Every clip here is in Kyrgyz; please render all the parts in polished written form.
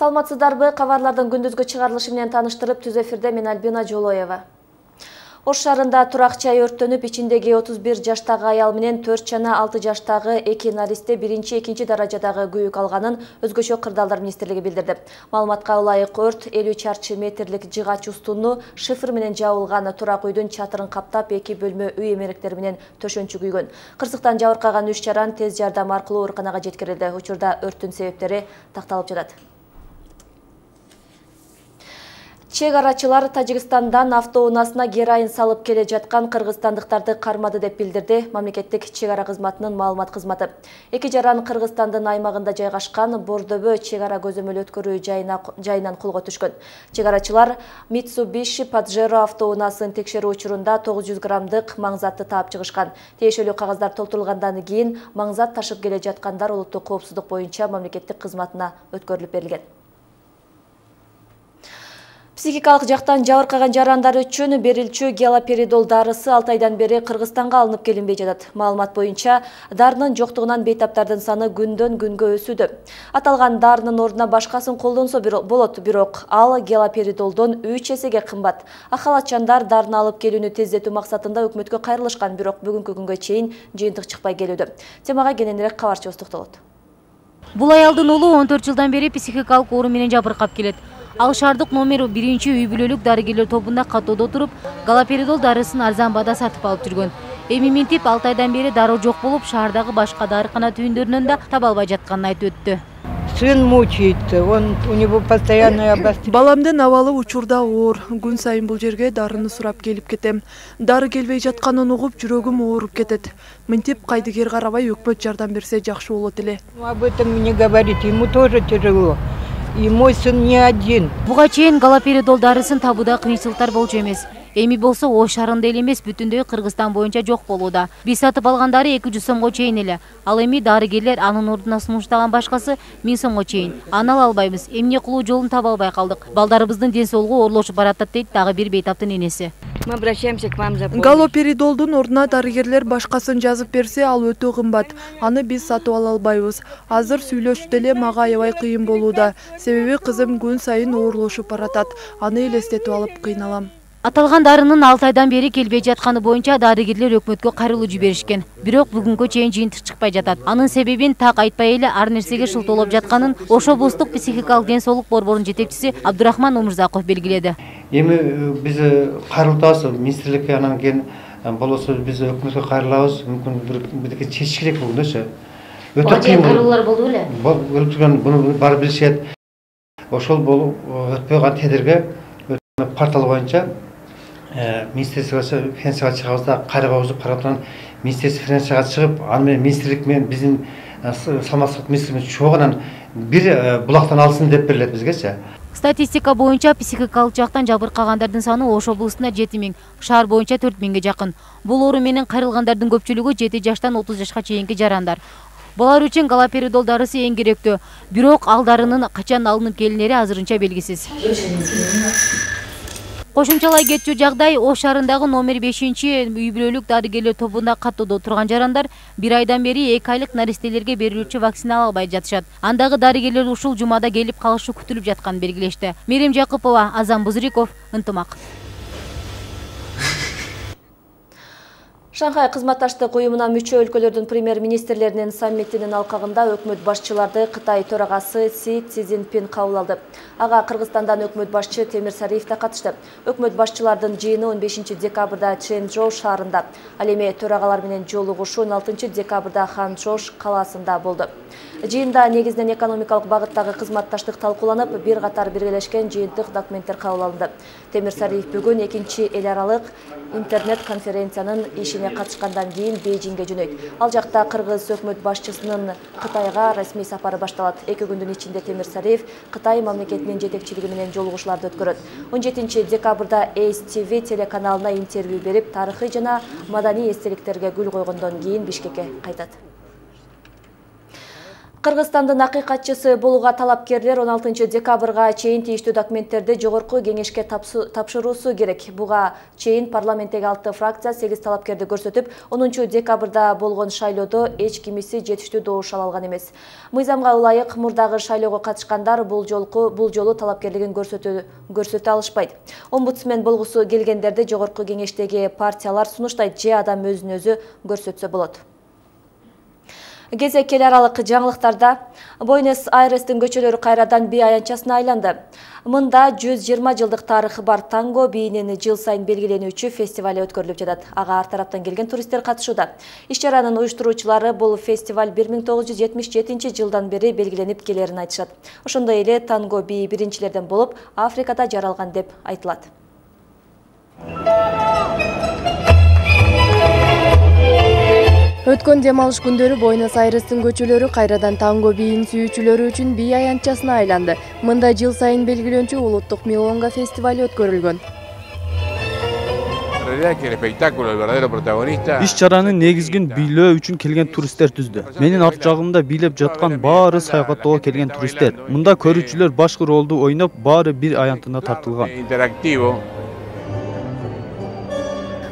Саламатсыздарбы? Кабарлардын күндүзгү чыгарылышы менен таныштырып, түз эфирде мен Альбина Жолоева. Ош шаарында турак жай өрттөнүп, ичиндеги 31 жаштагы аял менен 4 жана 6 жаштагы 2 наристе 1-2 даражадагы күйүк алганын Өзгөчө кырдаалдар министрлиги билдирди. Маалыматка ылайык өрт 50 чарчы метрлик жыгач устунну шифр менен жабылган турак үйдүн чатырын каптап, 2 бөлмө үй эмеректери менен төшөнчү күйгөн. Кырсыктан жабыркаган 3 жаран тез жардам аркылуу ооруканага жеткирилди. Учурда өрттүн себептери такталып жатат. Чек арачылар Тажикстандан автоунаасына героин салып келе жаткан кыргызстандыктарды кармады деп билдирди мамлекеттик чек ара кызматынын маалымат кызматы. 2 жаран Кыргызстандын аймагында жайгашкан Бордобө чек ара көзөмөл өткөрүү жайынан колго түшкөн. Чек арачылар Mitsubishi Pajero автоунаасын текшерүү учурунда 900 граммдык маңзатты таап чыгышкан. Тиешелүү кагаздар толтурулгандан кийин маңзат ташып келе жаткандар улуттук коопсуздук боюнча мамлекеттик кызматына өткөрүлүп берилген. Психикалык жактан жабыркаган жарандар үчүн берилчү галоперидол дарысы 6 айдан бери Кыргызстанга алынып келинбей жатат. Маалымат боюнча, дарынын жоктугунан бейтаптардын саны күндөн күнгө өсүүдө. Аталган дарынын ордуна башкасын колдонсо болот, бирок ал галоперидолдон 3 эсеге кымбат. Ахалатчандар дарыны алып келүүнү тездетүү максатында өкмөткө кайрылышкан, бирок бүгүнкү күнгө чейин жыйынтык чыкпай келүүдө. Темага кененирээк кабарчыбыз токтолот. Бул аялдын уулу 14 жылдан бери психикалык оору менен жабыркап келет. Ал шаардык номер 1 үй бүлөлүк дарыгерлер тобунда каттоодо туруп, галоперидол дарысын арзан баада сатып алып жүргөн. Эми минтип 6 айдан бери дароо жок болуп, шаардагы башка дарыкана түйүндөрүнөн да таба албай жатканын айтып өттү. Сын мучается, у него постоянное обострение. Баламдын абалы учурда оор. Күн сайын бул жерге дарыны сурап келип кетем. Дары келбей жатканын угуп, жүрөгүм ооруп кетет. Мынтип кайдыгер карабай өкмөт жардам берсе жакшы болот эле. Об этом не говорите, ему тоже тяжело. И мой сын не один. Буга чейин галоперидол дарысын табууда кыйынчылыктар болчу эмес. Эми болсо Ош шаарында эле эмес, бүтүндөй Кыргызстан боюнча жок болууда. Биз сатып алган дары 200 сомго чейин эле. Ал эми дарыгерлер анын ордуна сунуштаган башкасы 1000 сомго чейин. Аны ала албайбыз. Эмне кылуу жолун таба албай калдык. Балдарыбыздын ден соолугу оорлошуп баратат дейт дагы бир бейтаптын энеси. Мы обращаемся к вам за помощью. Галоперидолдун ордуна дарыгерлер башкасын жазып берсе, ал өтө кымбат. Аны биз сатып ала албайбыз. Азыр сүйлөшүп эле мага аябай кыйын болууда. Себеби кызым күн сайын оорлошуп баратат. Аны элестетип алып кыйналам. Аталган дарынын 6 айдан бери келбей жатканы боюнча дарыгерлер өкмөткө кайрылуу жиберишкен. Бирок бүгүнгө чейин жыйынтык чыкпай жатат. Анын себебин так айтпай эле ар нерсеге шылтоолоп жатканын Ош облустук психикалык ден соолук борборунун жетекчиси Абдурахман Умурзаков белгиледи. Эми биз кайрылтабыз министрликке, анан кийин болбосо биз өкмөткө кайрылабыз. Мүмкүн бирдеке чечиш керек болгондойчу. Өтө кыйын кайрылуулар болду беле? Болуп турган, буну баары билишет. Ошол болуп өтпөй калган тедирге портал боюнча министрликке финансияга чыгабыз да, кайрылабыз, караптан министрлик финансияга чыгып, аны менен министрлик менен биздин саламаттык министрлигибиз чогуу бир булактан алсын деп берилет бизгечи. Статистика боюнча психикалык жактан жабыркагандардын саны Ош облусунда 7000, шаар боюнча 4000ге жакын. Бул оору менен кайрылгандардын көпчүлүгү 7 жаштан 30 жашка чейинки жарандар. Булар үчүн галоперидол дарысы эң керектүү. Бирок ал дарынын качан алынып келинери азырынча белгисиз. Кошумчалай кетчү жагдай, Ош шаарындагы номер 5 үй бүлөлүк дарыгерлер тобунда каттоодо турган жарандар 1 айдан бери 2 айлык наристелерге берилүүчү вакцина ала албай жатышат. Андагы дарыгерлер ушул жумада келип калышы күтүлүп жатканын белгилешти. Мерим Жакыпова, Азам Бузриков, Ынтымак. Шанхай кызматташтык уюмуна мүчө өлкөлөрдүн премьер-министрлеринин саммитинин алкагында өкмөт башчыларды Кытай төрагасы Си Цзиньпин кабыл алды. Ага Кыргызстандан өкмөт башчы Темир Сариев да катышты. Өкмөт башчылардын жыйыны 15 декабрда Чжэнчжоу шаарында, ал эми төрагалар менен жолугушуу 16 декабрда Ханчжоу калаасында болду. Жыйында негизинен экономикалык багыттагы кызматташтык талкууланып, бир катар биргелешкен жыйынтык документтер кабыл алынды. Темир Сариев бүгүн 2 эл аралык интернет конференциянын ишине катышкандан кийин Бейжиңге жөнөйт. Ал жакта Кыргыз өкмөт башчысынын Кытайга расмий сапары башталат. 2 күндүн ичинде Темир Сариев Кытай мамлекетинин жетекчилиги менен жолугушууларды өткөрөт. 17 декабрда Ace TV телеканалына интервью берип, тарыхый жана маданий эстеликтерге гүл койгондон кийин Бишкекке кайтат. Кыргызстандын акыйкатчысы болууга талапкерлер 16 декабрга чейин тийиштүү документтерди жогорку кеңешке тапшыруусу керек. Буга чейин парламенттеги 6 фракция 8 талапкерди көрсөтүп, 10 декабрда болгон шайлоодо эч кимиси жетиштүү добуш ала алган эмес. Мыйзамга ылайык мурдагы шайлоого катышкандар бул жолу талапкерлигин көрсөтө алышпайт. Омбудсмен болгусу келгендерди жогорку кеңештеги партиялар сунуштайт же адам өзүн өзү көрсөтсө болот. Кезек эл аралык жаңылыктарда Буэнос-Айрестин көчөлөрү кайрадан бий аянтчасына айланды. Мында 120 жылдык тарыхы бар танго бийинин жыл сайын белгиленүүчү фестивали өткөрүлүп жатат. Ага ар тараптан келген туристтер катышууда. Иш-чаранын уюштуруучулары бул фестиваль 1977 жылдан бери белгиленип келерин айтышат. Ошондой эле танго бийи биринчилерден болуп Африкада жаралган деп айтылат. Өткөн дем алыш күндөрү Буэнос-Айрестин көчөлөрү кайрадан танго бийин сүйүүчүлөрү үчүн бий аянтчасына айланды. Мында жыл сайын белгиленүүчү улуттук милонга фестивали өткөрүлгөн. Иш-чаранын негизгин бийлөө үчүн келген туристтер түздү. Менин арт жагымда бийлеп жаткан баары саякаттоого келген туристтер. Мында көрүүчүлөр башкы ролду ойноп, баары бир аянтына тартылган.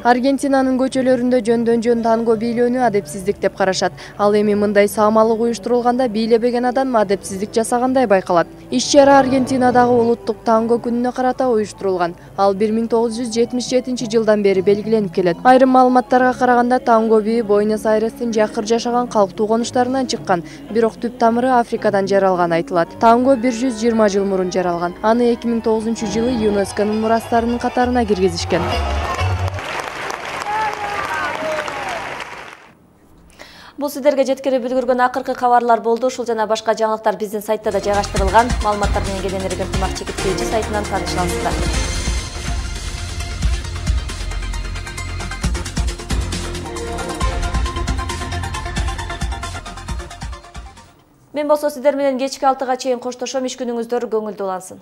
Аргентинанын көчөлөрүндө жөндөн-жөн танго бийлөөнү адепсиздик деп карашат. Ал эми мындай саамалык уюштурулганда бийлебеген адам адепсиздик жасагандай байкалат. Иш-чара Аргентинадагы улуттук танго күнүнө карата уюштурулган. Ал 1977 жылдан бери белгиленип келет. Айрым маалыматтарга караганда танго бийи Буэнос-Айрестин жакыр жашаган калктуу конуштарынан чыккан, бирок түп тамыры Африкадан жаралган айтылат. Танго 120 жыл мурун жаралган. Аны 2009 жылы ЮНЕСКОнун мурастарынын катарына киргизишкен. Бул сиздерге жеткирип үлгүргөн акыркы кабарлар болду. Ушул жана башка жаңылыктар биздин сайтта да жайгаштырылган. Маалыматтар менен келген ынтымак чекиткейчи сайтынан тааныша аласыздар. Мен болсо сиздер менен кечки 6-га чейин коштошом. Иш күнүңүздөр көңүлдүү улансын.